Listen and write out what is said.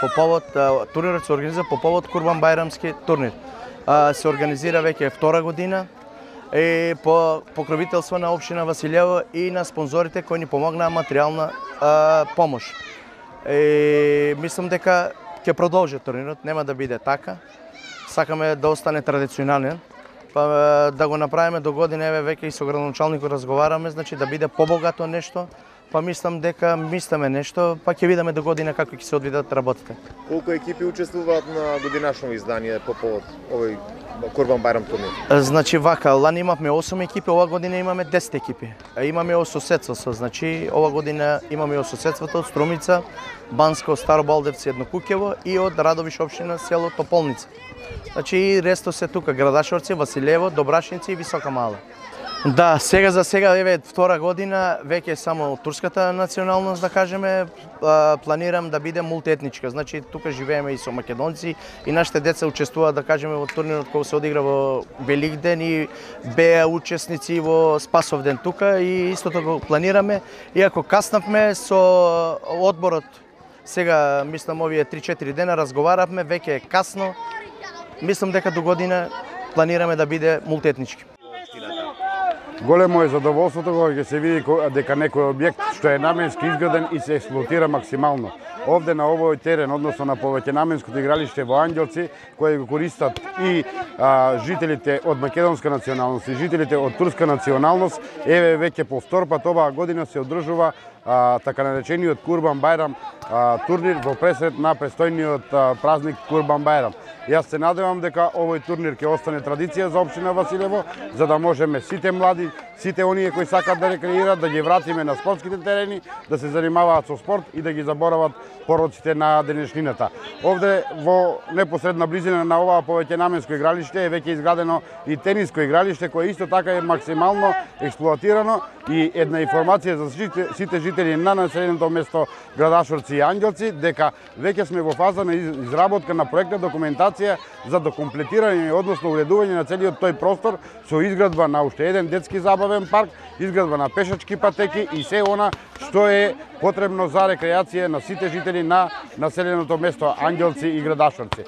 по повод турнирот се организира по повод Курбан-бајрамски турнир. Се организира веќе втора година и по покровителство на општина Василево и на спонзорите кои ни помогнаа материјална помош. Мислам дека ќе продолжи турнирот, нема да биде така. Сакаме да остане традиционален, па да го направиме до година, веќе и со градоначалникот разговараме, значи да биде побогато нешто. Па мислам дека мислиме нешто, па ќе видиме до година како ќе се одвидат работите. Колку екипи учествуваат на годинашно издание по повод овој Курбан-бајрам турнир? Значи вака, лани имавме 8 екипи, ова година имаме 10 екипи. Имаме ососедство, значи ова година имаме ососедството од Струмица, Банско, Старо Балдевци, Еднокуќево и од Радовиш општина село Тополница. Значи и ресто се тука Градашорци, Василево, Добрашници и Висока Мала. Да, сега за сега втора година веќе само турската националност, да кажеме, планирам да биде мултиетничка. Значи тука живееме и со македонци и нашите деца учествуваат, да кажеме, во турнирот кој се одигра во Великден и беа учесници во Спасовден тука и истото го планираме. Иако каснавме со одборот, сега мислам овие 3-4 дена разговаравме, веќе е касно. Мислам дека до година планираме да биде мултиетнички. Големо е задоволството кога ќе се види дека некој објект што е наменски изграден и се експлоатира максимално. Овде на овој терен, односно на повеќенаменското игралиште во Ангелци, кој го користат и жителите од македонска националност и жителите од турска националност, веќе по втор пат оваа година се одржува така наречениот Курбан-бајрам турнир во пресред на престојниот празник Курбан-бајрам. Јас се надевам дека овој турнир ќе остане традиција за општина Василево, за да можеме сите млади, сите оние кои сакат да рекреираат, да ги вратиме на спортските терени, да се занимаваат со спорт и да ги заборават пороците на денешнината. Овде во непосредна близина на оваа повеќенаменско игралиште е веќе изградено и тениско игралиште кое исто така е максимално експлоатирано и една информација за сите жители на населеното место Градашорци и Ангелци дека веќе сме во фаза на изработка на проектна документација за докомплетирање, односно уредување на целиот тој простор со изградба на уште еден детски забавен парк, изградба на пешачки патеки и се она што е потребно за рекреација на сите жители на населеното место Ангелци и Градашорци.